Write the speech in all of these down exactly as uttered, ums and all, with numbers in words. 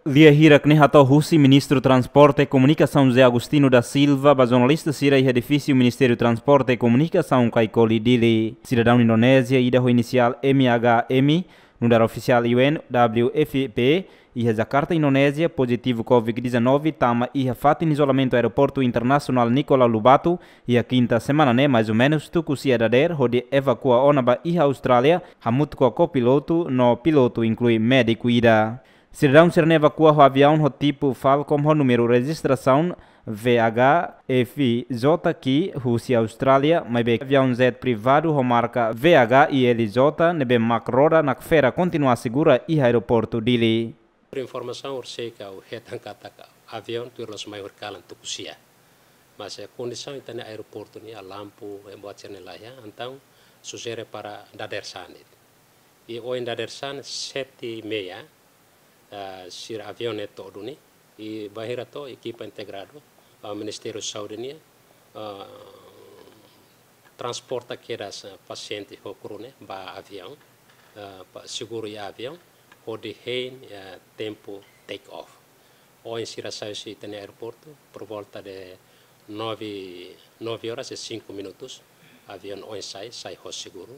Lia hirak ne'e hato'o husi Ministru Transporte Komunikasaun José Agostinho da Silva ba jornalista sira iha edifísiu Ministériu Transporte Komunikasaun Caicoli, Dili. Sidadaun Indonézia ida ho inisiál M H M, nu'udar ofisiál U N W F P iha Jakarta, Indonézia, pozitivu COVID dezanove, tama iha fatin izolamentu Aeroportu Internasionál Nicolau Lobato iha kinta semana ne'e, mais ou menus tuku sia dadeer, hodi evakua ona ba iha Austrália, hamutuk ho kopilotu no pilotu, inklui médiku ida. Sidadaun sira-ne'e evakua ho aviaun ho tipu Falcon ho númeru rejistrasaun V H F J Q husi Austrália, maibé aviaun jet privadu ho marka V H I L J ne'ebé mak roda nakfera kontinua segura iha aeroportu Dili. Informasaun orsida ha'u hetan katak aviaun tuir loos mai horikalan tuku sia. Mas, eh, kondisaun ita-nia aeroportu nian, lampu, eh, buat sira-ne'e laiha, entaun sujere para dadeer-saan de'it. I ohin dadeer-saan sete e meia, eh, sira aviaun ne'e to'o duni, i bainhira to'o ekipa integradu, eh, Ministériu Saúde nian, eh, transporta kedas, eh, pasiente ho kru ne'e ba aviaun, eh, ba seguru iha aviaun, hodi hein, eh, tempu take off. Ohin sira sai husi ita-nia aeroportu por volta de nove, nove horas e cinco minutos. Aviaun ohin sai, sai ho seguru,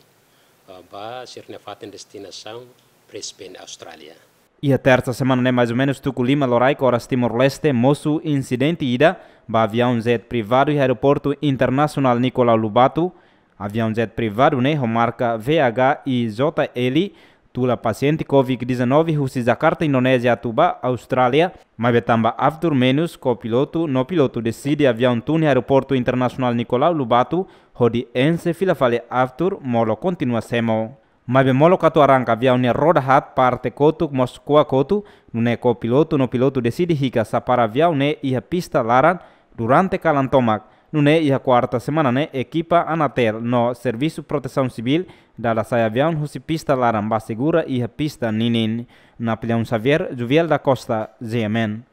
eh, ba sira-nia fatin destinasaun Brisbane, Austrália. Iha tersa semana ne'e, mais ou menus tuku lima loraik oras Timor-Leste, mosu insidente ida ba aviaun jet privadu iha Aeroportu Internasionál Nicolau Lobato. Aviaun jet privadu ne'e ho marka V H I J L tula pasiente COVID dezanove husi Jakarta, Indonézia atu ba Austrália, maibé tanba aftur menus kopilotu no pilotu deside aviaun tun iha Aeroportu Internasionál Nicolau Lobato, hodi enxe fila fali aftur, molok kontinua semo. Maibé molok atu arranka, aviaun nia roda haat, parte kotuk mós ko'a kotu, nune'e kopilotu no pilotu deside hikas sa para aviaun ne'e iha pista laran durante kalan tomak. Nune'e iha kuarta semana ne'e ekipa Anatel no Servisu Protesaun Sivíl dada sai aviaun husi pista laran ba segura iha pista ninin. Napoleão Xavier, Juviel da Costa, G M N.